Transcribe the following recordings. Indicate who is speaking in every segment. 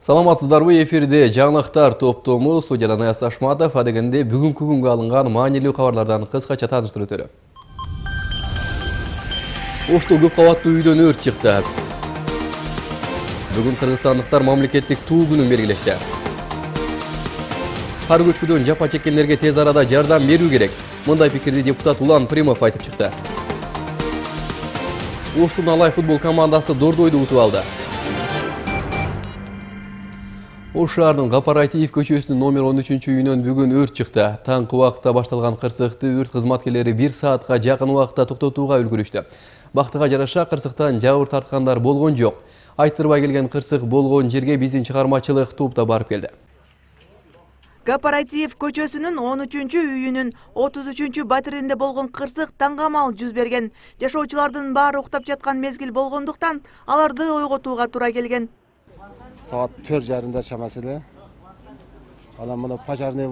Speaker 1: Саламатсыздарбы, эфирде жаңылыктар топтому студиядан Аяз Ашматов адегенде бүгүнкү күнгө алынган маанилүү кабарлардан кыскача тааныштырып өтөлү. Ошто көп кабаттуу үйдөн өрт чыкты. Бүгүн кыргызстандыктар мамлекеттик туу күнүн белгилешти. Кар көчкүдөн жапа чеккендерге тез арада жардам берүү керек. Мындай пикирди депутат Улан Примов айтып чыкты. Оштун Алай футбол командасы Дордойду утуп алды. Ош шаарынын Кооператив көчөсүнүн номер 13 үйүнөн бүгүн өрт чыкты. Таңкы убакытта башталган кырсыкты өрт кызматкерлери 1 саатка жакын убакытта токтотууга үлгүрүштү. Бактыга жараша кырсыктан жабыр тарткандар болгон жок. Айтырбай келген кырсык болгон жерге биздин чыгармачылык топ да барып келди.
Speaker 2: Кооператив көчөсүнүн 13 үйүнүн 33 батиринде болгон кырсык таңгамал жүз берген. Жашоочулардын баары уктап жаткан мезгил болгондуктан аларды ойготууга туура келген.
Speaker 3: Saat 4:30 şamasıyla. Alan bunu pajarny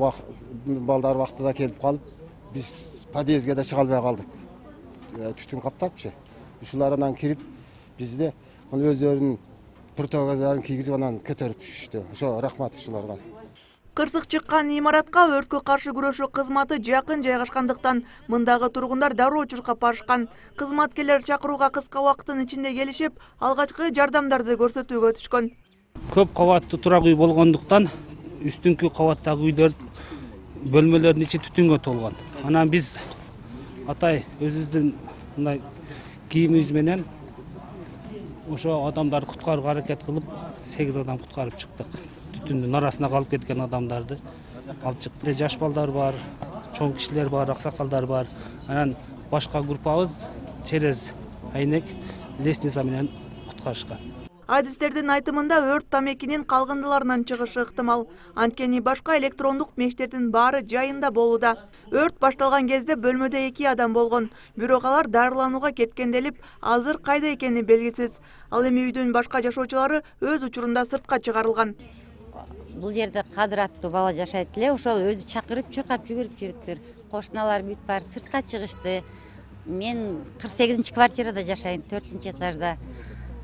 Speaker 3: balдар vaqtida kelip kalıp biz podъездге de çıkalbay kaldık. Tütün kaptapçı. Şularından kirip bizde bunu özlerinin pırtogazların kiygizip anan kötörüp düştü. Şo rahmat şulardan.
Speaker 2: Кырсык чыккан имаратка өрткө каршы күрөшүү кызматы жакын жайгашкандыктан мындагы тургундар дароо чуркап барышкан. Кызматкерлер чакырууга кыска убакыттын ичинде келишип, алгачкы жардамдарды көрсөтүүгө түшкөн.
Speaker 4: Көп кабаттуу турак үй болгондуктан үстүнкү кабаттагы үйлөр бөлмөлөрдүн ичи түтүнгө толгон. Анан биз атай өзүбүздүн мындай кийимибиз менен ошо адамдарды куткарууга аракет кылып 8 адам куткарып чыктык. Түтүндүн арасына калып кеткен адамдарды алып чыктык. Жаш балдар бар, чоң кишилер бар, аксакалдар бар. Анан башка группабыз через айнек лестница менен куткарышкан.
Speaker 2: Адистердин айтымында өрт тамекинин калгындыларынан чыгышы ыктымал. Анткени башка электрондук мештердин баары жайында болууда. Өрт башталган кезде бөлмөдө 2 адам болгон. Бирок алар дарыланууга кеткенделип, азыр кайда экени белгисиз. Ал эми үйдүн башка жашоочулары өз учурунда сыртка чыгарылган.
Speaker 5: Бул жерде Кадыр аттуу бала жашайт эле, ошол өзү чакырып чуркап жүгүрүп жүрүптүр. Кошуналар бүт баары сыртка чыгышты. Мен 48 квартирада жашайм, 4-этажда.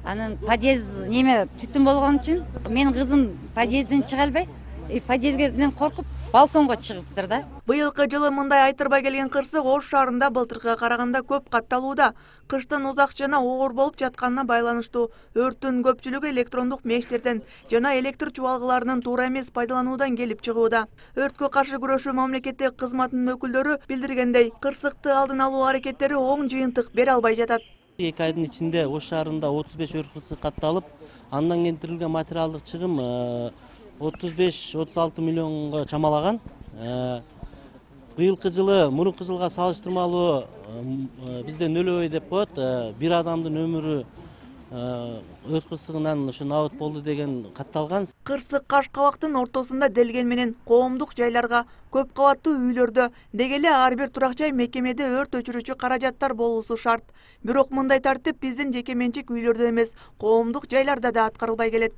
Speaker 5: Анын подъезд неме түтүн болгон үчүн менин кызым подъездден чыга албай, подъездден коркуп балконго чыгыптыр да.
Speaker 2: Быйылкы жылы мындай айтырбай келген кырсык Ош шаарында былтыркыга караганда көп катталууда. Кыштын узак жана оор болуп жатканына байланыштуу. Өрттүн көпчүлүгү электрондук мештерден жана электр чубалгыларынын туура эмес пайдалануудан келип чыгууда. Өрткө каршы күрөшүү мамлекеттик кызматынын өкүлдөрү билдиргендей, кырсыкты алдын алуу аракеттери оң жыйынтык бере албай жатат.
Speaker 6: 2 айдын ичинде Ош шаарында 35 өрт кырсык катталып, андан келтирилген материалдык чыгым 35-36 миллионго чамалаган. Быйылкы жылы мурунку жылга салыштырмалуу бизде нөлөбөй деп коет. Бир адамдын өмүрү өрт кырсыгынан ушу набыт болду деген катталган.
Speaker 2: Кырсык каш кабактын ортосунда делген менен коомдук жайларга, көп кабаттуу үйлөрдө, деги эле ар бир турак жай мекемеде өрт өчүрүүчү каражаттар болуусу шарт. Бирок мындай тартип биздин жеке менчик үйлөрдө эмес, коомдук жайларда да аткарылбай келет.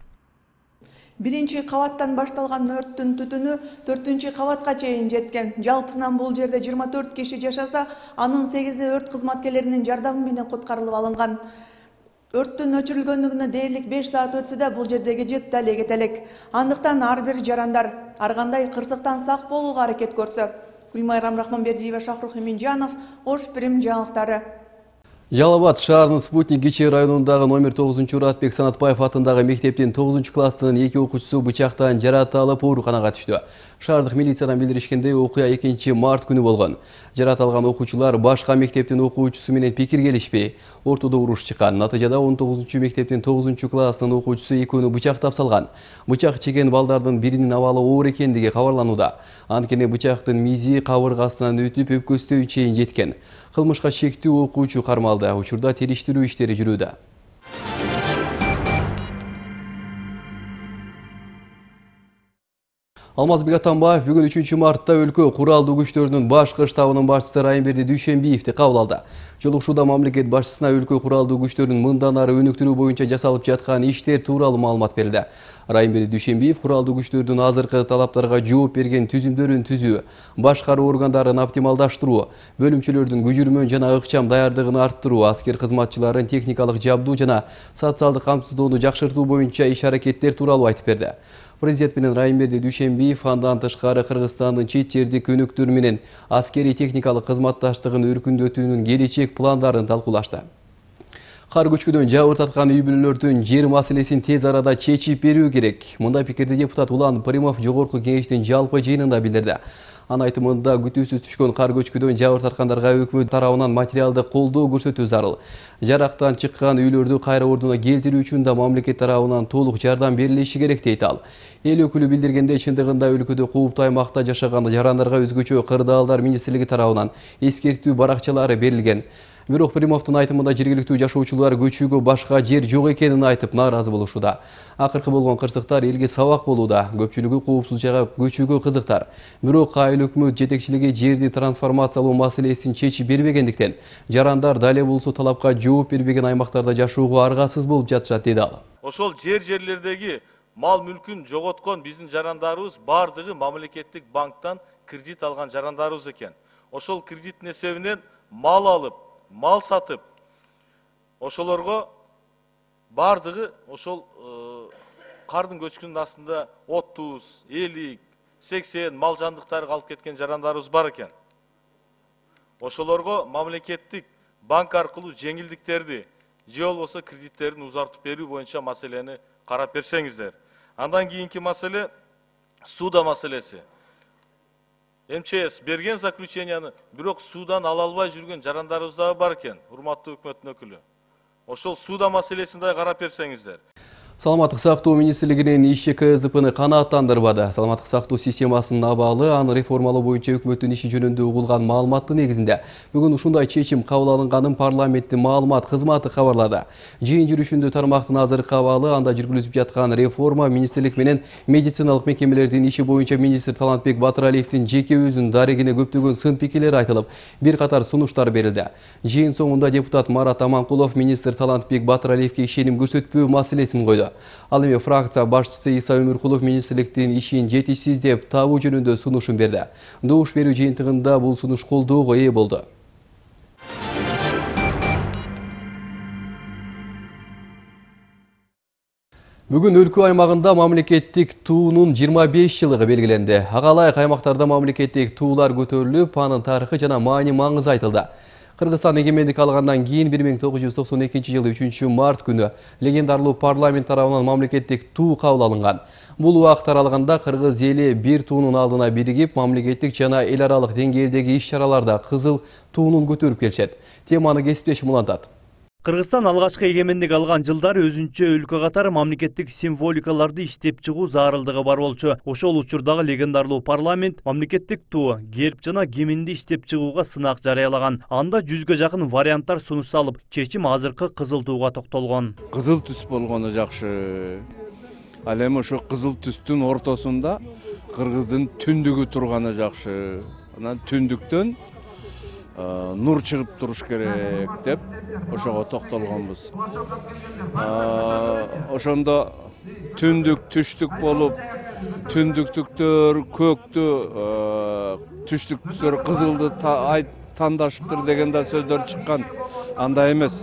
Speaker 2: Биринчи кабаттан башталган өрттүн түтүнү 4-кабатка чейин жеткен. Жалпысынан бул жерде 24 киши жашаса, анын 8-и өрт кызматкерлеринин жардамы менен куткарылып алынган. Өрттүн өчүрүлгөндүгүнө дээрлик 5 саат өтсө да бул жердеги жет да легетелек. Андыктан ар бир жарандар ар кандай кырсыктан сак болууга аракет көрсө. Гүлмайрам Рахманбердиева, Шахрух Эминжанов, Ош Прим жаңылыктары.
Speaker 1: Жалал Абад шаарынын Спутник Кичи районундагы номер 9-Уратбек Санатбаев атындагы мектептин 9-класстын 2 окуучусу бычактан жараталып ооруканага түштү. Шаардык милициядан билдиришкендей, окуя 2 март күнү болгон. Жараталган окуучулар башка мектептин окуучусу менен пикир келишпей, ортодо уруш чыккан. Натыйжада 19-мектептин 9-класстын окуучусу экөөнү бычактап салган. Бычак чеген балдардын биринин абалы оор экендиги кабарланууда. Анткени бычактын мизи кабыргасынан өтүп өпкөстөй чейин жеткен. Кылмышка шектүү окуучу кармалды. Учурда териштирүү иштери жүрүүдө. Алмазбек Атамбаев бүгүн 3 мартта өлкө куралдуу күчтөрүнүн башкы штабынын башчысы Райымберди Дүйшөнбиевди кабыл алды. Жолугушууда мамлекет башчысына өлкө куралдуу күчтөрүнүн мындан ары өнүктүрүү боюнча жасалып жаткан иштер тууралуу маалымат берилди. Райымберди Дүйшөнбиев куралдуу күчтөрдүн азыркы талаптарга жооп берген түзүмдөрүн түзүү, башкаруу органдарын оптималдаштыруу, бөлүмчөлөрдүн күжүрмөн жана ыкчам даярдыгын арттыруу, аскер кызматчыларын техникалык жабдуу жана социалдык камсыздоону жакшыртуу боюнча иш-аракеттер тууралуу айтып берди. Президент менен Райымберди Дүйшөнбиев андан тышкары Кыргызстандын чет жердик өнөктөр менен аскери техникалык кызматташтыгын өркүндөтүүнүн келечек пландарын талкуулашты. Кар көчкүдөн жабыр таткан үй бүлөлөрдүн жер маселесин тез арада чечип берүү керек. Мында пикирди депутат Улан Примов Жогорку Кеңештин жалпы жыйынында билдирди. Анын айтымында күтүүсүз түшкөн кар көчкүдөн жабыр тарткандарга өкмөт тарабынан материалдык колдоо көрсөтүү зарыл. Жарактан чыккан үйлөрдү кайра ордуна келтирүү үчүн да мамлекет тарабынан толук жардам берилиши керек дейт ал. Эл өкүлү билдиргендей, чындыгында өлкөдө кууптуу аймакта жашаган жарандарга өзгөчө кырдаалдар министрлиги тарабынан эскертүү баракчалары берилген. Бирок Примовдун айтымында жергиликтүү жашоочулар көчүүгө башка жер жок экенин айтып нааразы болушууда. Акыркы болгон кырсыктар элге сабак болууда. Көпчүлүгү коопсуз жайга көчүүгө кызыктар. Бирок айыл өкмөт жетекчилиги жерди трансформациялоо маселесин чечип бербегендиктен, жарандар дале болсо талапка жооп бербеген аймактарда жашоого аргасыз болуп жатышат деди ал.
Speaker 7: Ошол жерлердеги мал мүлкүн жоготкон биздин жарандарыбыз бардыгы мамлекеттик банктан кредит алган жарандарыбыз экен. Ошол кредиттин эсебинен мал алып, мал сатып, ошолорго бардыгы ошол кардын көчкүнүн астында 30, 50, 80 мал жандыктары калып кеткен жарандарыбыз бар экен. Ошолорго мамлекеттик банк аркылуу жеңилдиктерди же болбосо кредиттерин узартып берүү боюнча маселени карап берсеңиздер. Андан кийинки маселе сууда маселеси. МЧС берген заключенияны, бирок суудан ала албай жүргөн жарандарыбыз да бар экен, урматтуу өкмөттүн өкүлү. Ошол сууда маселесин да карап берсеңиздер.
Speaker 1: Саламаттык сактоо министрлигинин иши КСДПны канааттандырбады. Саламаттык сактоо системасынын абалы, аны реформалоо боюнча өкмөттүн иши жөнүндө угулган маалыматтын негизинде бүгүн ушундай чечим кабыл алынганын парламенттин маалымат кызматы кабарлады. Жыйын жүрүшүндө тармактын азыркы абалы, анда жүргүзүлүп жаткан реформа, министрлик менен медициналык мекемелердин иши боюнча министр Талантбек Батыралиевдин жеке өзүнүн дарегине көптөгөн сын пикирлер айтылып, бир катар сунуштар берилди. Жыйын соңунда депутат Марат Аманкулов министр Талантбек Батыралиевге ишеним көрсөтпөө маселесин койду. Ал эми фракция башчысы Иса Өмүркулов министрликтин ишин жетишсиз деп табуу жөнүндө сунушун берди. Добуш берүү жыйынтыгында бул сунуш колдоого ээ болду. Бүгүн өлкө аймагында мамлекеттик туунун 25 жылыгы белгиленди. Ага ылайык аймактарда мамлекеттик туулар көтөрүлүп, анын тарыхы жана маани маңызы айтылды. Кыргызстан эгемендик алгандан кийин 1992 жылы 3 март күнү легендарлуу парламент тарабынан мамлекеттик туу кабыл алынган. Бул убакыт аралыгында кыргыз эли бир туунун алдына биригип, мамлекеттик жана эл аралык деңгээлдеги иш-чараларда кызыл туунун көтөрүп келишет. Теманы кесиптешим улантат.
Speaker 8: Кыргызстан алгачкы эгемендик алган жылдары өзүнчө өлкө катары мамлекеттик символикаларды иштеп чыгуу зарылдыгы бар болчу. Ошол учурдагы легендарлуу парламент мамлекеттик туу, герб жана гимнди иштеп чыгууга сынак жарыялаган. Анда 100гө жакын варианттар сунушталып, чечим азыркы кызыл тууга токтолгон.
Speaker 9: Кызыл түс болгону жакшы. Ал эми ошо кызыл түстүн ортосунда кыргыздын түндүгү турганы жакшы. Анан түндүктөн нур чыгып туруш керек деп ошого токтолгонбуз. Ошондо түндүк түштүк болуп, түндүктүктөр көктү, түштүктөр кызылды тандашыптыр деген да сөздөр чыккан. Андай эмес.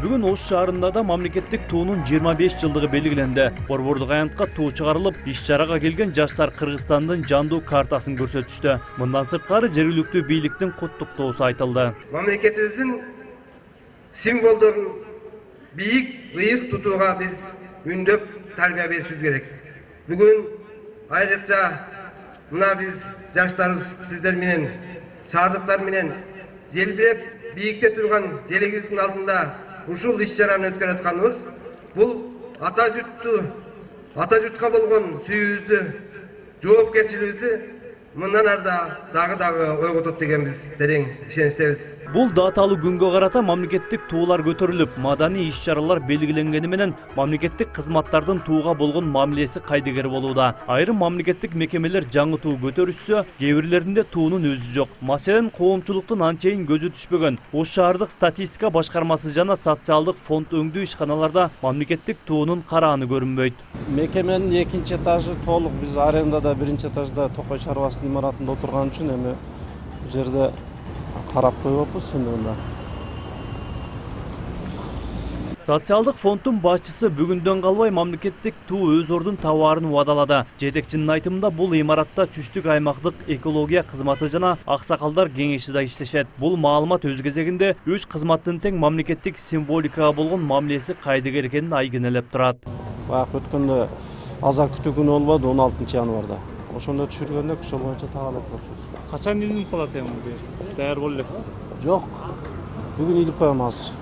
Speaker 8: Бүгүн Ош шаарында да мамлекеттик туунун 25 жылдыгы белгиленди. Борбордук аянтка туу чыгарылып, иш-чарага келген жаштар Кыргызстандын жандуу картасын көрсөтүштү. Мындан сырткары жергиликтүү бийликтин куттуктоосу айтылды.
Speaker 10: Мамлекетибиздин символдорун бийик, ыйык тутууга биз үндөп тарбия беришибиз керек. Бүгүн айрыкча мына биз жаштарыбыз сиздер менен, шаардыктар менен желбиреп бийикте турган желегибиздин алдында ушул иш-чараны өткөрүп атканыбыз бул ата журтка болгон сүйүүбүздү, жоопкерчилигибизди мындан ары дагы ойготот деген биз терең ишеничтебиз.
Speaker 8: Бул даталуу күнгө карата мамлекеттик туулар көтөрүлүп, маданий иш-чаралар белгиленгени менен мамлекеттик кызматтардын тууга болгон мамилеси кайдыгер болууда. Айрым мамлекеттик мекемелер жаңы туу көтөрүшсө, кээ бирлеринде туунун өзү жок. Маселен, коомчулуктун анчейин көзү түшпөгөн. Ош шаардык статистика башкармасы жана социалдык фонд өңдүү ишканаларда мамлекеттик туунун карааны көрүнбөйт.
Speaker 6: Мекеменин экинчи этажы толук, биз арендада биринчи этажда Токой чарбасынын имаратында отурган үчүн эми бул жерде карап койбоппуз сындыгында.
Speaker 8: Социалдык фонддун башчысы бүгүндөн калбай мамлекеттик туу өз ордун табаарын убадалады. Жетекчинин айтымында бул имаратта түштүк аймактык экология кызматы жана аксакалдар кеңеши да иштешет. Бул маалымат өз кезегинде өч кызматтын тең мамлекеттик символикага болгон мамилеси кайдыгер экенин айгинелеп турат.
Speaker 6: Баягы өткөндө аза күтүү күнү болбоду 16 январда. Ошондо түшүргөндө ошол боюнча таалап коюпсуз.
Speaker 4: Качан илинип калат эми бул? Даяр болуп элекпиз.
Speaker 6: Жок. Бүгүн илип коем азыр.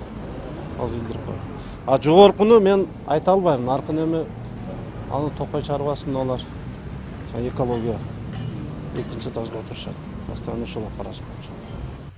Speaker 6: Азыр илдирип коем. А жогоркуну мен айта албайм. Наркын эми аны Токой чарбасындалар. Экология экинчи этажда отурушат. Постоянно ошолор карашып атышат.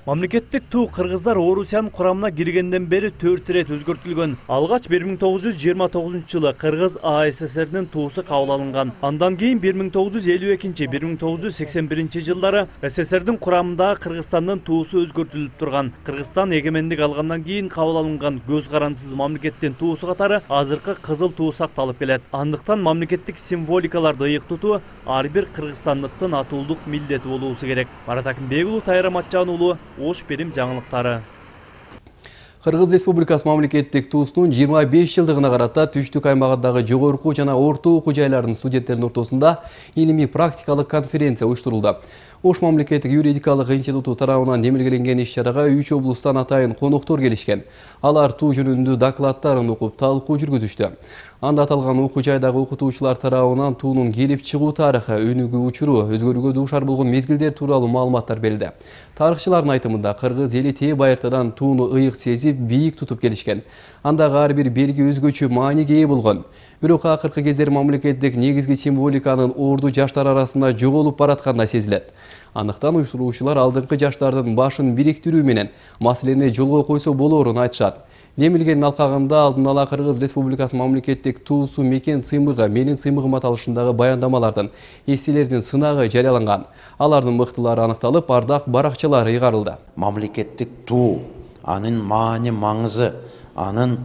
Speaker 8: Мамлекеттик туу кыргыздар Орусиянын курамына киргенден бери 4 ирет өзгөртүлгөн. Алгач 1929-жылы Кыргыз АССРдин туусу кабыл алынган. Андан кийин 1952-1981 жылдары СССРдин курамындагы Кыргызстандын туусу өзгөртүлүп турган. Кыргызстан эгемендик алгандан кийин кабыл алынган көз карандысыз мамлекеттин туусу катары азыркы кызыл туу сакталып келет. Андыктан мамлекеттик символикаларды ыйык тутуу ар бир кыргызстандыктын атуулдук милдети болуусу керек. Марат Акимбек уулу, Тайра Матчан уулу, Ош Берим жаңылыктары.
Speaker 1: Кыргыз Республикасы мамлекеттик туусунун 25 жылдыгына карата түштүк аймагындагы жогорку жана орто окуу жайларынын студенттеринин ортосунда илимий практикалык конференция уюштурулду. Ош мамлекеттик юридикалык институту тарабынан демилгеленген иш-чарага 3 облустан атайын коноктор келишкен. Алар туу жөнүндө докладдарын окуп, талкуу жүргүзүштү. Анда аталган окуу жайдагы окутуучулар тарабынан туунун келип чыгуу тарыхы, өнүгүү учуру, өзгөрүүгө дуушар болгон мезгилдер тууралуу маалыматтар берилди. Тарыхчылардын айтымында кыргыз эли тээ байыртадан тууну ыйык сезип, бийик тутуп келишкен. Андагы ар бир белги өзгөчө мааниге ээ болгон. Бирок акыркы кездер мамлекеттик негизги символиканын орду жаштар арасында жоголуп бараткандай сезилет. Андыктан уюштуруучулар алдыңкы жаштардын башын бириктирүү менен маселени жолго койсо болоорун айтышат. Демилгенин алкагында алдын ала Кыргыз Республикасы мамлекеттик туусу мекен сыймыгы, менин сыймыгым аталышындагы баяндамалардын, эстелердин сынагы жарыяланган. Алардын мыктылары аныкталып, ардак баракчалары ыйгарылды.
Speaker 11: Мамлекеттик туу, анын маани маңызы, анын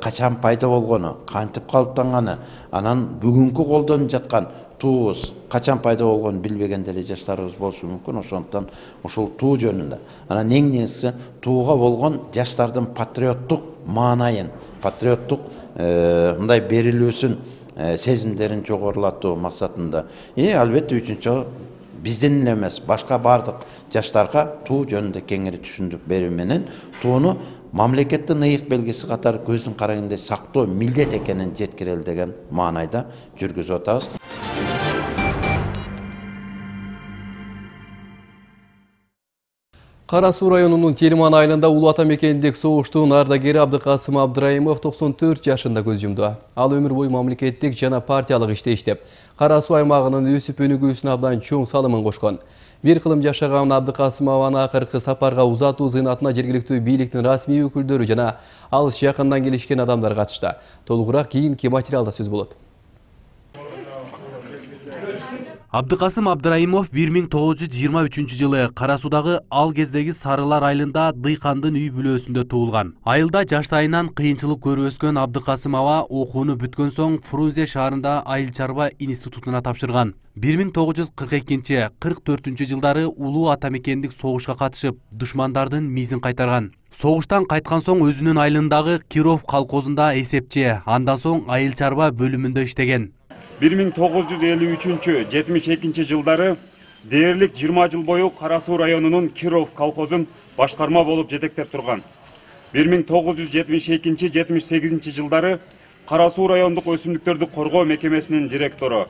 Speaker 11: качан пайда болгону, кантип калыптанганы, анан бүгүнкү колдонуп жаткан туубуз качан пайда болгонун билбеген деле жаштарыбыз болушу мүмкүн. Ошондуктан ошол туу жөнүндө анан эң негизгиси тууга болгон жаштардын патриоттук маанайын, патриоттук мындай берилүүсүн, сезимдерин жогорулатуу максатында. Албетте үчүнчү бизден эле эмес, башка бардык жаштарга туу жөнүндө кеңири түшүндүк берүү менен тууну мамлекеттин ыйык белгиси катары көздүн карагындай сактоо милдет экенин жеткирели деген маанайда жүргүзүп атабыз.
Speaker 1: Кара Суу районунун Телиман айылында улуу ата мекендик согуштун ардагери Абдыкасым Абдрайымов 94 жашында көз жумду. Ал өмүр бою мамлекеттик жана партиялык иште иштеп, Кара Суу аймагынын өсүп өнүгүүсүнө абдан чоң салымын кошкон. Бир кылым жашаган Абдыкасымованы акыркы сапарга узатуу зыйнатына жергиликтүү бийликтин расмий өкүлдөрү жана алыс жакындан келишкен адамдар катышты. Толугураак кийинки материалда сөз болот.
Speaker 12: Абдыкасым Абдрайымов 1923 жылы Кара Суудагы ал кездеги Сарылар айылында дыйкандын үй бүлөсүндө туулган. Айылда жаштайынан кыйынчылык көрүп өскөн Абдыкасымова окууну бүткөн соң Фрунзе шаарында айыл чарба институтуна тапшырган. 1942-44 жылдары улуу ата мекендик согушка катышып, душмандардын мизин кайтарган. Согуштан кайткан соң өзүнүн айылындагы Киров колхозунда эсепчи, андан соң айыл чарба бөлүмүндө иштеген.
Speaker 13: 1953-72 жылдары дээрлик 20 жыл бою Кара Суу районунун Киров колхозун башкарма болуп жетектеп турган. 1972-78 жылдары Кара Суу райондук өсүмдүктөрдү коргоо мекемесинин директору.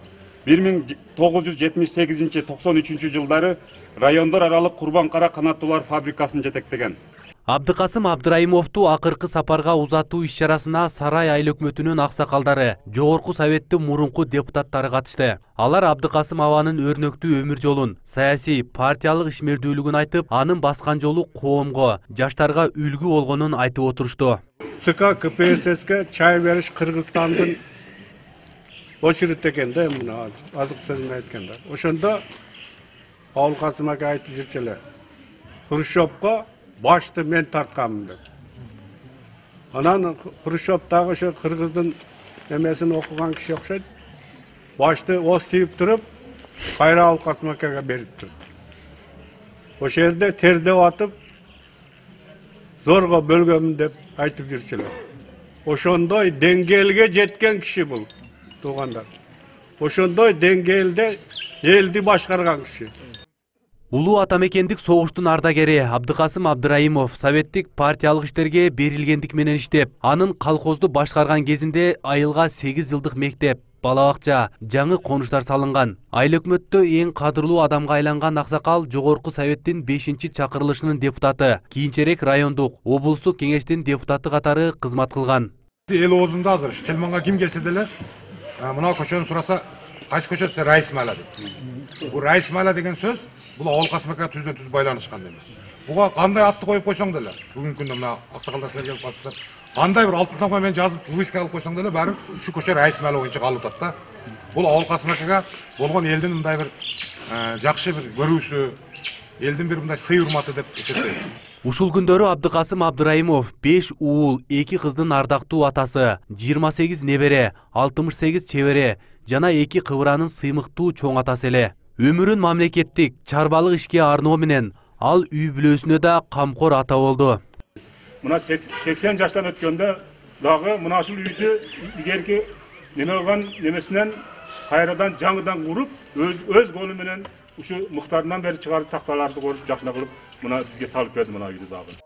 Speaker 13: 1978-93 жылдары райондор аралык курбан кара канаттуулар фабрикасын жетектеген.
Speaker 12: Абдыкасым Абдраимовду акыркы сапарга узатуу иш-чарасына Сарай айыл өкмөтүнүн аксакалдары, Жогорку Советтин мурунку депутаттары катышты. Алар Абдыкасым абанын өрнөктүү өмүр жолун, саясий, партиялык ишмердүүлүгүн айтып, анын баскан жолу коомго, жаштарга үлгү болгонун айтып отурушту.
Speaker 14: ЦК КПССке чай бериш Кыргызстандын очередь экен да, мына азык сөзүн айтканда. Ошондо Абдыкасым ака айтып жүрчү эле. Хрущевко башты мен тартканмын деп. Анан Хрущев дагы ошо кыргыздын эмесин окуган киши окшойт. Башты ос тийип туруп, кайра Абдыкасым акага бериптир. Ошол жерде тердеп атып, зорго бөлгөмүн деп айтып жүрчү эле. Ошондой деңгээлге жеткен киши бул, туугандар. Ошондой деңгээлде элди башкарган киши.
Speaker 12: Улуу атамекендик согуштун ардагери Абдыкасым Абдраимов советтик партиялык иштерге берилгендик менен иштеп, анын колхозду башкарган кезинде айылга 8 жылдык мектеп, бала бакча, жаңы конуштар салынган. Айыл өкмөттө эң кадырлуу адамга айланган аксакал Жогорку Советтин 5-чакырылышынын депутаты, кийинчерээк райондук, облустук кеңештин депутаты катары кызмат кылган.
Speaker 15: Эл оозунда азыр Телманга ким келсе деле, мына көчөнү сураса, кайсы көчө десе Раис Майла дейт. Бул Раис Майла деген сөз бул Абдыкасым ага түздөн-түз байланышкан деме. Буга кандай атты коюп койсоң деле, бүгүнкү күндө мына аксакалдар силер келип калсаңар, кандай бир алтын тамга мен жазып вывеска алып койсоң деле, баары ушу көчө Раис Майла боюнча калып атат да. Бул Абдыкасым акага болгон элдин мындай бир жакшы бир көрүүсү, элдин бир мындай сый урматы деп эсептейбиз.
Speaker 12: Ушул күндөрү Абдыкасым Абдраимов 5 уул, 2 кыздын ардактуу атасы, 28 небере, 68 чебере жана 2 кыбыранын сыймыктуу чоң атасы эле. Өмүрүн мамлекеттик, чарбалык ишке арноо менен ал үй бүлөсүнө да камкор ата болду.
Speaker 16: Мына 80 жаштан өткөндө дагы мына ушул үйдү илгерки неме кылган немесинен кайрадан жаңыдан куруп, өз колу менен ушу мыктарынан бери чыгарып такталарды коруп жакшына кылып мына бизге салып берди мына үйдү дагы.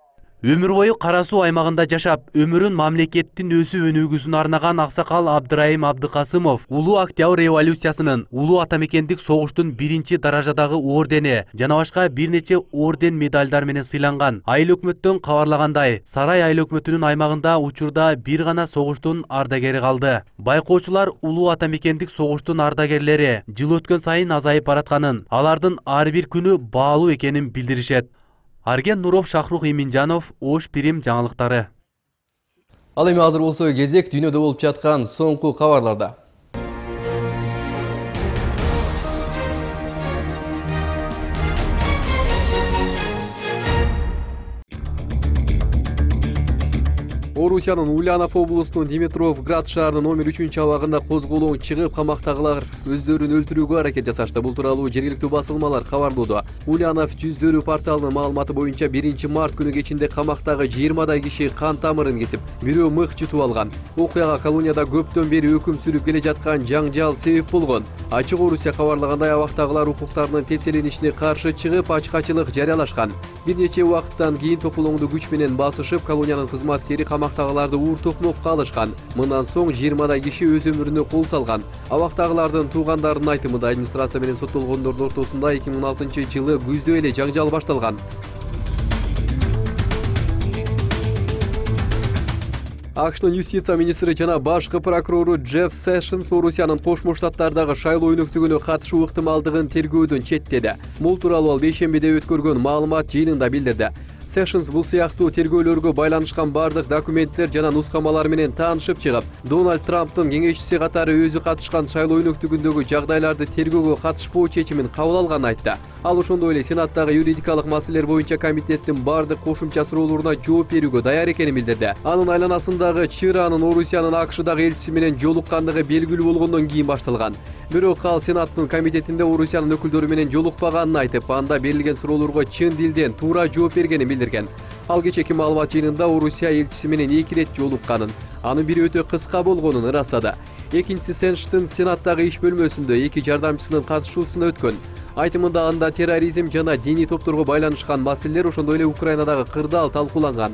Speaker 12: Өмүр бою Кара Суу аймагында жашап, өмүрүн мамлекеттин өсүп өнүгүүсүнө арнаган аксакал Абдраим Абдыкасымов Улуу Октябрь революциясынын, Улуу атамекендик согуштун 1-чи даражадагы ордени жана башка бир нече орден медальдар менен сыйланган. Айыл өкмөттөн кабарлагандай, Сарай айыл өкмөтүнүн аймагында учурда бир гана согуштун ардагери калды. Байкоочулар Улуу атамекендик согуштун ардагерлери жыл өткөн сайын азайып баратканын, алардын ар бир күнү баалуу экенин билдиришет. Арген Нуров, Шахрух Иминжанов, Ош Пирим жаңылыктары.
Speaker 1: Ал эми азыр болсо кезек дүйнөдө болуп жаткан соңку кабарларда. Орусиянын Ульянов облусунун Димитровград шаарынын номер 3-абагында козголоң чыгып, камактагылар өздөрүн өлтүрүүгө аракет жасашты. Бул тууралуу жергиликтүү басылмалар кабарлоодо. Ульянов жүздөрү порталынын маалыматы боюнча 1-март күнү кечинде камактагы 20дай киши кан тамырын кесип, бирөө мык жутуп алган. Окуяга колонияда көптөн бери өкүм сүрүп келе жаткан жаңжал себеп болгон. Ачык Орусия кабарлагандай, абактагылар укуктарынын тепселенишине каршы чыгып, ачкачылык жарыялашкан. Бир нече убакыттан кийин тополоңду күч менен басышып, колониянын кызматкери камактагыларды ууртокмокко алышкан. Мындан соң 20дай киши өз өмүрүнө кол салган. Абактагылардын туугандарынын айтымында, администрация менен соттолгондордун ортосунда 2016-жылы күздө эле жаңжал башталган. АКШнын юстиция министри жана башкы прокурору Джефф Сэшнс Орусиянын Кошмо Штаттардагы шайлоо өнөктүгүнө катышуу ыктымалдыгын тергөөдөн четтеди. Бул тууралуу ал бейшембиде өткөргөн маалымат жыйынында билдирди. Сэшнс бул сыяктуу тергөөлөргө байланышкан бардык документтер жана нускамалар менен таанышып чыгып, Дональд Трамптын кеңешчиси катары өзү катышкан шайлоо өнөктүгүндөгү жагдайларды тергөөгө катышпоо чечимин кабыл алганын айтты. Ал ошондой эле Сенаттагы юридикалык маселелер боюнча комитеттин бардык кошумча суроолоруна жооп берүүгө даяр экенин билдирди. Анын айланасындагы чыраанын Орусиянын АКШдагы элчиси менен жолуккандыгы белгилүү болгондон кийин башталган. Бирок ал Сенаттын комитетинде Орусиянын өкүлдөрү менен жолукпаганын айтып, анда берилген суроолорго чын дилден туура жооп бергенин билдирген. Ал кечээки маалымат жыйынында Орусия элчиси менен 2 рет жолукканын, анын бири өтө кыска болгонун ырастады. Экинчиси Сэшнстын Сенаттагы иш бөлмөсүндө 2 жардамчысынын катышуусуна өткөн. Айтымында анда терроризм жана диний топторго байланышкан маселелер, ошондой эле Украинадагы кырдаал талкууланган.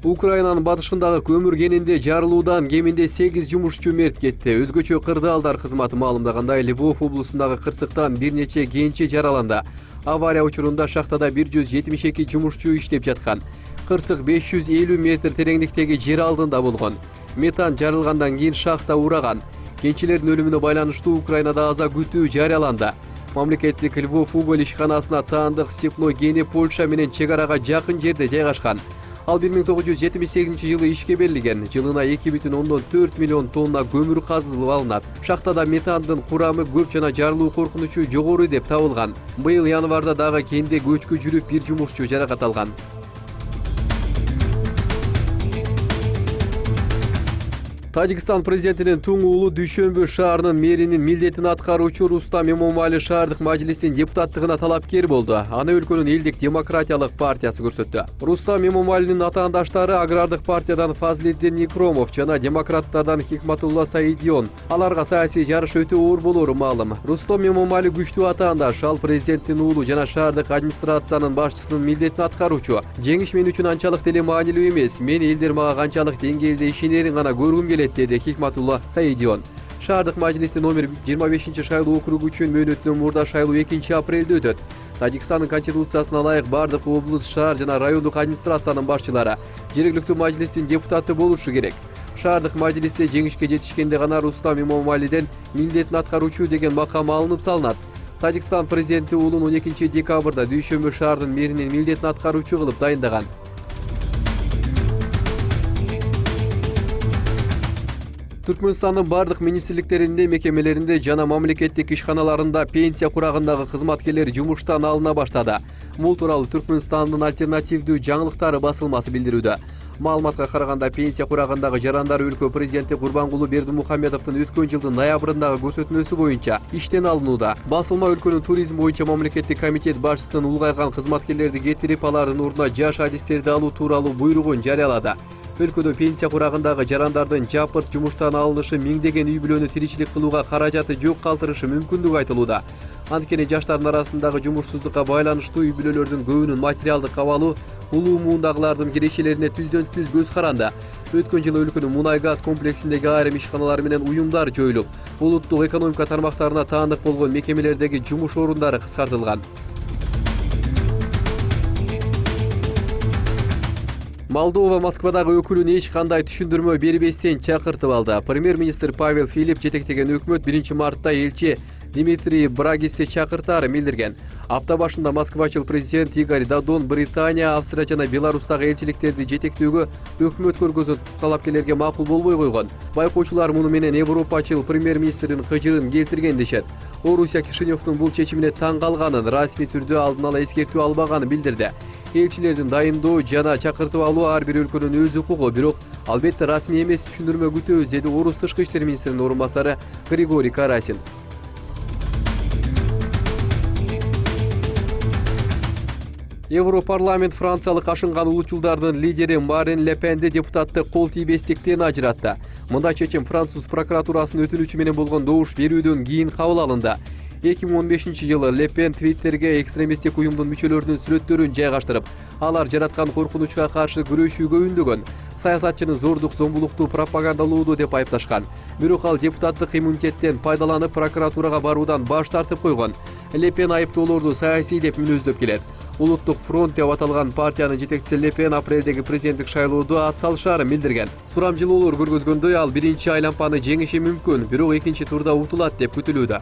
Speaker 1: Украинанын батышындагы көмүр кенинде жарылуудан кеминде 8 жумушчу мерт кетти. Өзгөчө кырдаалдар кызматы маалымдагандай, Львов облусундагы кырсыктан бир нече кенчи жараланды. Авария учурунда шахтада 172 жумушчу иштеп жаткан. Кырсык 550 метр тереңдиктеги жер алдында болгон. Метан жарылгандан кийин шахта ураган. Кенчилердин өлүмүнө байланыштуу Украинада аза күтүү жарыяланды. Мамлекеттик Львов уголь ишканасына таандык Степной кени Польша менен чек арага жакын жерде жайгашкан. Ал 1978-жылы ишке берилген. Жылына 2,4 миллион тонна көмүр казылып алынат. Шахтада метандын курамы көп жана жарылуу коркунучу жогору деп табылган. Быйыл январда дагы кенде көчкү жүрүп бир жумушчу жаракат алган. Тажикстан президентинин туң уулу Дүйшөмбү шаарынын мэринин милдетин аткаруучу Рустам Эмомали шаардык мажлистин депутаттыгына талапкер болду. Аны өлкөнүн элдик демократиялык партиясы көрсөттү. Рустам Эмомалинин атаандаштары агрардык партиядан Фазлиддин Икромов жана демократтардан Хикматулла Саидион. Аларга саясий жарыш өтө оор болору маалым. Рустам Эмомали күчтүү атаандаш, ал президенттин уулу жана шаардык администрациянын башчысынын милдетин аткаруучу. Жеңиш мен үчүн анчалык деле маанилүү эмес. Мен элдер мага канчалык деңгээлде ишенерин гана көргүм келет, деди Хикматулла Саидион. Шаардык мажлистин номер 25 шайлоо округу үчүн мөөнөтүнөн мурда шайлоо 2-апрелде өтөт. Тажикстандын конституциясына ылайык бардык облус, шаар жана райондук администрациянын башчылары жергиликтүү мажлистин депутаты болушу керек. Шаардык мажлисте жеңишке жетишкенде гана Рустам Эмомалиден милдетин аткаруучу деген макам алынып салынат. Тажикстан президенти уулун 12 декабрда Дүйшөмбү шаарынын мэринин милдетин аткаруучу кылып дайындаган. Түркмөнстандын бардык министрликтеринде, мекемелеринде жана мамлекеттик ишканаларында пенсия курагындагы кызматкерлер жумуштан алына баштады. Бул тууралуу Түркмөнстандын альтернативдүү жаңылыктары басылмасы билдирүүдө. Маалыматка караганда, пенсия курагындагы жарандар өлкө президенти Курбангулу Бердимухамедовдун өткөн жылдын ноябрындагы көрсөтмөсү боюнча иштен алынууда. Басылма өлкөнүн туризм боюнча мамлекеттик комитет башчысынын улгайган кызматкерлерди кетирип, алардын ордуна жаш адистерди алуу тууралуу буйругун жарыялады. Өлкөдө пенсия курагындагы жарандардын жапырт жумуштан алынышы миңдеген үй бүлөнү тиричилик кылууга каражаты жок калтырышы мүмкүндүгү айтылууда. Анткени жаштардын арасындагы жумушсуздукка байланыштуу үй бүлөлөрдүн көбүнүн материалдык абалы улуу муундагылардын кирешелерине түздөн-түз көз каранды. Өткөн жылы өлкөнүн мунай газ комплексиндеги айрым ишканалар менен уюмдар жоюлуп, улуттук экономика тармактарына таандык болгон мекемелердеги жумуш орундары кыскартылган. Молдова Москвадагы өкүлүн эч кандай түшүндүрмө бербестен чакыртып алды. Премьер-министр Павел Филипп жетектеген өкмөт 1-мартта элчи Дмитрий Брагисти чакыртаарын билдирген. Апта башында Москвачыл президент Игорь Додон Британия, Австрия жана Беларустагы элчиликтерди жетектөөгө өкмөт көргөзөт талапкерлерге макул болбой койгон. Байкоочулар муну менен Европачыл премьер-министрдин кыжырын келтирген дешет. Орусия Кишиневдун бул чечимине таң калганын, расмий түрдө алдын ала эскертүү албаганын билдирди. Элчилердин дайындоо жана чакыртып алуу ар бир өлкөнүн өз укугу, бирок албетте расмий эмес түшүндүрмө күтөбүз, деди Орус тышкы иштер министринин орун басары Григорий Карасин. Европарламент франциялык ашынган улуучулдардын лидери Марин Ле Пенди депутатты кол тийбестиктен ажыратты. Мындай чечим француз прокуратурасынын өтүнүчү менен болгон добуш берүүдөн кийин кабыл алынды. 2015-жылы Ле Пен Твиттерге экстремисттик уюмдун мүчөлөрүнүн сүрөттөрүн жайгаштырып, алар жараткан коркунучка каршы күрөшүүгө үндөгөн. Саясатчыны зордук, зомбулукту пропагандалоодо деп айыпташкан. Бирок ал депутаттык иммунитеттен пайдаланып прокуратурага баруудан баш тартып койгон. Ле Пен айыптоолорду саясий деп мүнөздөп келет. Улуттук фронт деп аталган партиянын жетекчиси Ле Пен апрелдеги президенттик шайлоодо ат салышаарын билдирген. Сурамжылоолор көргөзгөндөй, ал биринчи айлампаны жеңиши мүмкүн, бирок экинчи турда утулат деп күтүлүүдө.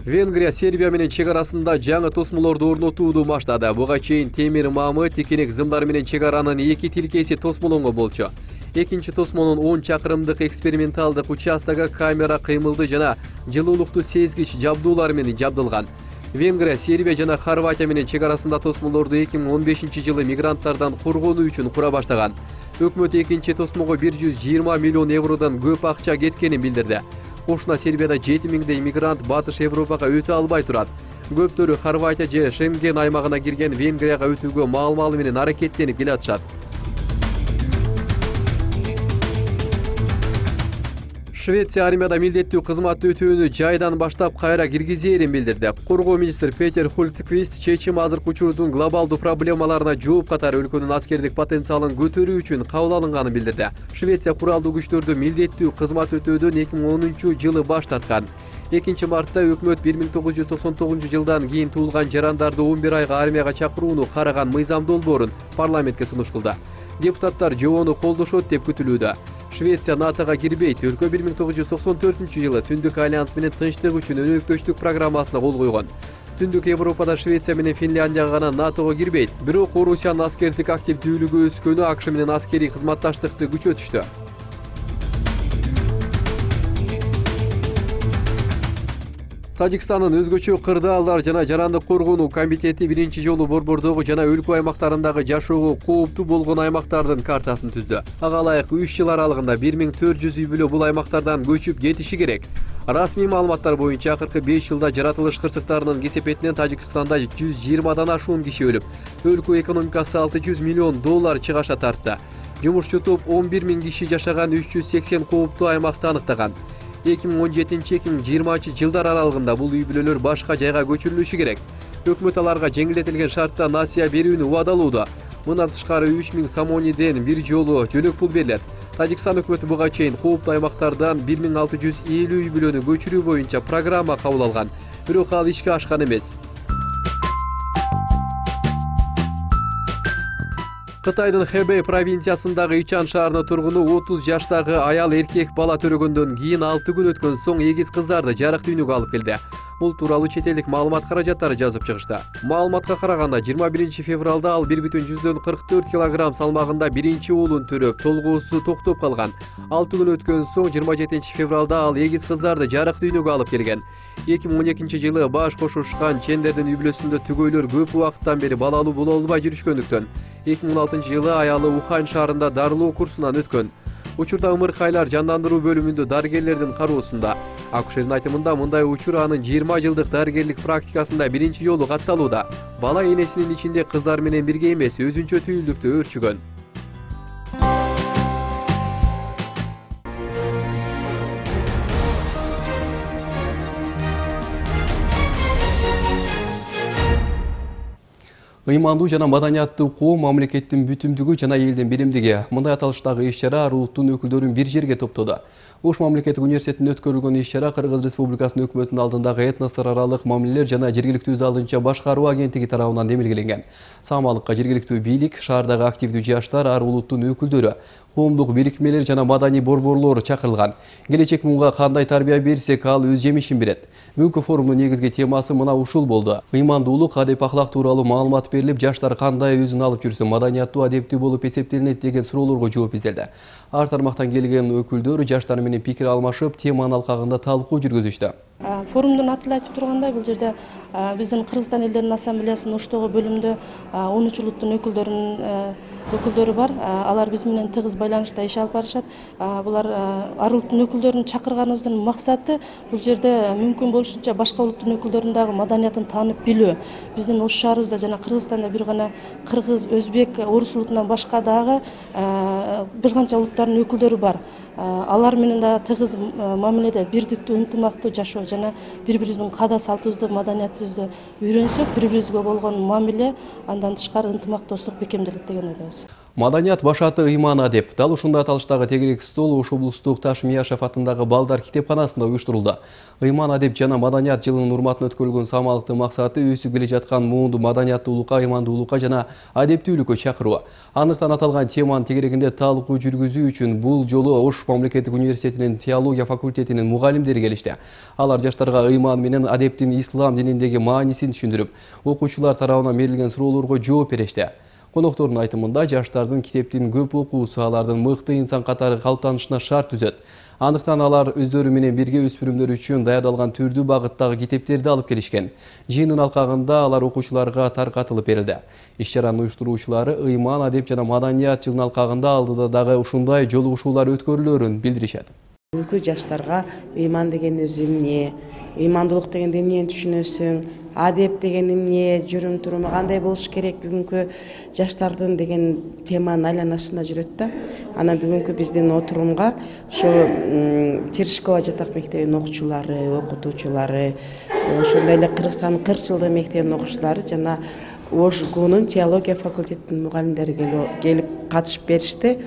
Speaker 1: Венгрия Сербия менен чек арасында жаңы тосмолорду орнотууду баштады. Буга чейин темир мамы тикенек зымдар менен чек аранын эки тилкеси тосмолонгон болчу. Экинчи тосмонун 10 чакырымдык эксперименталдык участогу камера кыймылды жана жылуулукту сезгич жабдуулар менен жабдылган. Венгрия, Сербия жана Хорватия менен чек арасында тосмолорду 2015-жылы мигранттардан коргонуу үчүн кура баштаган. Өкмөт экинчи тосмого 120 миллион евродон көп акча кеткенин билдирди. Кошуна Сербияда 7000 мигрант Батыш Европага өтө албай турат. Көптөрү Хорватия же Шенген аймагына кирген Венгрияга өтүүгө маал-маалы менен аракеттенип келатышат. Швеция армияда милдеттүү кызмат өтүүнү жайдан баштап кайра киргизээрин билдирди. Коргоо министри Петер Хультиквист чечим азыркы учурдун глобалдуу проблемаларына жооп катары өлкөнүн аскердик потенциалын көтөрүү үчүн кабыл алынганын билдирди. Швеция куралдуу күчтөрдү милдеттүү кызмат өтөөдөн 2010 баш тарткан. 2 мартта өкмөт 1999 жылдан кийин туулган жарандарды 11 айга армияга чакырууну караган мыйзам долбоорун парламентке сунуш кылды. Депутаттар жобону колдошот деп күтүлүүдө. Швеция НАТОга кирбейт. Өлкө 1994 жылы Түндүк альянс менен тынчтык үчүн өнөктөштүк программасына кол койгон. Түндүк Европада Швеция менен Финляндия гана НАТОго кирбейт. Бирок Орусиянын аскердик активдүүлүгү өскөнү АКШ менен аскерий кызматташтыкты күчөтүштү. Тажикстандын өзгөчө кырдаалдар жана жарандык коргонуу комитети биринчи жолу Борбордогу жана өлкө аймактарындагы жашоого кооптуу болгон аймактардын картасын түздү. Ага ылайык 3 жыл аралыгында 1400 үй бүлө бул аймактардан көчүп кетиши керек. Расмий маалыматтар боюнча акыркы 5 жылда жаратылыш кырсыктарынын кесепетинен Тажикстанда 120дан ашуун киши өлүп, өлкө экономикасы $600 миллион чыгаша тартты. Жумушчу топ 11 000 киши жашаган 380 кооптуу аймакты аныктаган. 2017-2020 жылдар аралыгында бул үй бүлөлөр башка жайга көчүрүлүшү керек. Өкмөт аларга жеңилдетилген шартта насыя берүүнү убадалууда. Мындан тышкары 3000 самониден бир жолу жөлөк пул берилет. Тажикстан өкмөтү буга чейин кооптуу аймактардан 1650 үй бүлөнү көчүрүү боюнча программа кабыл алган. Бирок ал ишке ашкан эмес. Кытайдын Хэбэй провинциясындагы Ичан шаарынын тургуну 30 жаштагы аял эркек бала төрөгөндөн кийин 6 күн өткөн соң эгиз кыздарды жарык дүйнөгө алып келди. Бул тууралуу чет элдик маалымат каражаттары жазып чыгышты. Маалыматка караганда 21 февралда ал 1,44 кг салмагында биринчи уулун төрөп, толгоосу токтоп калган. 6 күн өткөн соң 27 февралда ал эгиз кыздарды жарык дүйнөгө алып келген. 2012 жылы баш кошушкан чендердин үй бүлөсүндө түгөйлөр көп убакыттан бери балалуу боло албай жүрүшкөндүктөн 2016 жылы аялы Ухань шаарында дарылоо курсунан өткөн. Учурда ымыркайлар жандандыруу бөлүмүндө дарыгерлердин кароосунда. Акушердин айтымында мындай учур анын 20 жылдык дарыгерлик практикасында биринчи жолу катталууда. Бала энесинин ичинде кыздар менен бирге эмес, өзүнчө түйүлдүктө өөрчүгөн. Ыймандуу жана маданияттуу коом мамлекеттин бүтүмдүгү жана элдин биримдиги. Мындай аталыштагы иш-чара ар улуттун өкүлдөрүн бир жерге топтоду. Ош мамлекеттик университетинде өткөрүлгөн иш-чара Кыргыз Республикасынын өкмөтүнүн алдындагы этностор аралык мамилелер жана жергиликтүү залынча башкаруу агенттиги тарабынан демилгеленген. Самалыкка жергиликтүү бийлик, шаардагы активдүү жаштар, ар улуттун өкүлдөрү, коомдук бирикмелер жана маданий борборлор чакырылган. Келечек муунга кандай тарбия берсек, ал өз жемишин берет. Бүгүнкү форумдун негизги темасы мына ушул болду. Ыймандуулук, адеп ахлак тууралуу маалымат берилип, жаштар кандай өзүн алып жүрсө, маданияттуу, адептүү болуп эсептелинет деген суроолорго жооп изделди. Ар тармактан келген өкүлдөр жаштар менен пикир алмашып, теманын алкагында талкуу жүргүзүштү.
Speaker 17: Форумдун аты эле айтып тургандай, бул жерде биздин Кыргызстан элдеринин ассамблеясынын Оштогу бөлүмүндө 13 улуттун өкүлдөрү бар. Алар биз менен тыгыз байланышта иш алып барышат. Булар ар улуттун өкүлдөрүн чакырганыбыздын максаты бул жерде мүмкүн болушунча башка улуттун өкүлдөрүнүн дагы маданиятын таанып билүү. Биздин Ош шаарыбызда жана Кыргызстанда бир гана кыргыз, өзбек, орус улутунан башка дагы бир канча улуттардын өкүлдөрү бар. Алар менен да тыгыз мамиледе бирдиктүү, ынтымактуу жашоо жана бири-бирибиздин каада салтыбызды, маданиятыбызды үйрөнсөк, бири-бирибизге болгон мамиле андан тышкары ынтымактоостук бекемделет деген ойдобуз.
Speaker 1: Маданият башаты ыйман адеп. Дал ушундай аталыштагы тегерек стол Ош облустук Таш Мияшев атындагы балдар китепканасында уюштурулду. Ыйман адеп жана маданият жылынын урматына өткөрүлгөн самалыктын максаты өсүп келе жаткан муунду маданияттуулукка, ыймандуулукка жана адептүүлүккө чакыруу. Андыктан аталган теманын тегерегинде талкуу жүргүзүү үчүн бул жолу Ош мамлекеттик университетинин теология факультетинин мугалимдери келишти. Алар жаштарга ыйман менен адептин ислам дининдеги маанисин түшүндүрүп, окуучулар тарабынан берилген суроолорго жооп беришти. Коноктордун айтымында жаштардын китептин көп окуусу алардын мыкты инсан катары калыптанышына шарт түзөт. Андыктан алар өздөрү менен бирге өспүрүмдөр үчүн даярдалган түрдүү багыттагы китептерди алып келишкен. Жыйындын алкагында алар окуучуларга таркатылып берилди. Иш-чаранын уюштуруучулары ыйман, адеп жана маданият жылынын алкагында алдыда дагы ушундай жолугушуулар өткөрүлөрүн билдиришет.
Speaker 18: Бүгүнкү жаштарга ыйман деген өзү эмне, ыймандуулук дегенди эмнени түшүнөсүң, адеп деген эмне, жүрүм туруму кандай болуш керек бүгүнкү жаштардын деген теманын айланасында жүрөт да. Анан бүгүнкү биздин отурумга ошо Чершикова жатак мектебинин окуучулары, окутуучулары, ошондой эле Кыргызстандын 40 жылдык мектебинин окуучулары жана ОШГУнун теология факультетинин мугалимдери келип катышып беришти.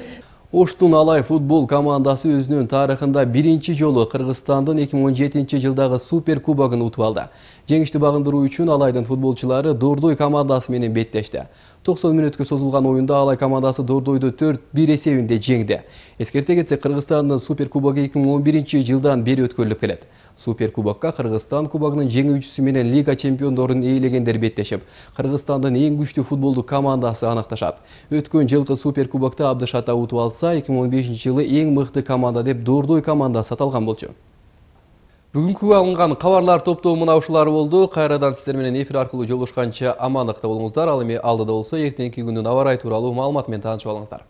Speaker 1: Оштун Алай футбол командасы өзүнүн тарыхында биринчи жолу Кыргызстандын 2017 жылдагы Супер кубогун утуп алды. Жеңишти багындыруу үчүн Алайдын футболчулары Дордой командасы менен беттешти. 90 мүнөткө созулган оюнда Алай командасы Дордойду 4-1 эсебинде жеңди. Эскерте кетсек, Кыргызстандын Супер кубогу 2011 жылдан бери өткөрүлүп келет. Супер кубокко Кыргызстан кубогунун жеңүүчүсү менен лига чемпиондорун ээлегендер беттешип, Кыргызстандын эң күчтүү футболдук командасы аныкташат. Өткөн жылкы Супер кубокто Абдышата утуп алса, 2015 жылы эң мыкты команда деп Дордой командасы аталган болчу. Бүгүнкү алынган кабарлар топтому мына ушулар болду. Кайрадан сиздер менен эфир аркылуу жолугушканча амандыкта болуңуздар. Ал эми алдыда болсо эртеңки күндүн аба ырайы тууралуу маалымат менен таанышып алыңыздар.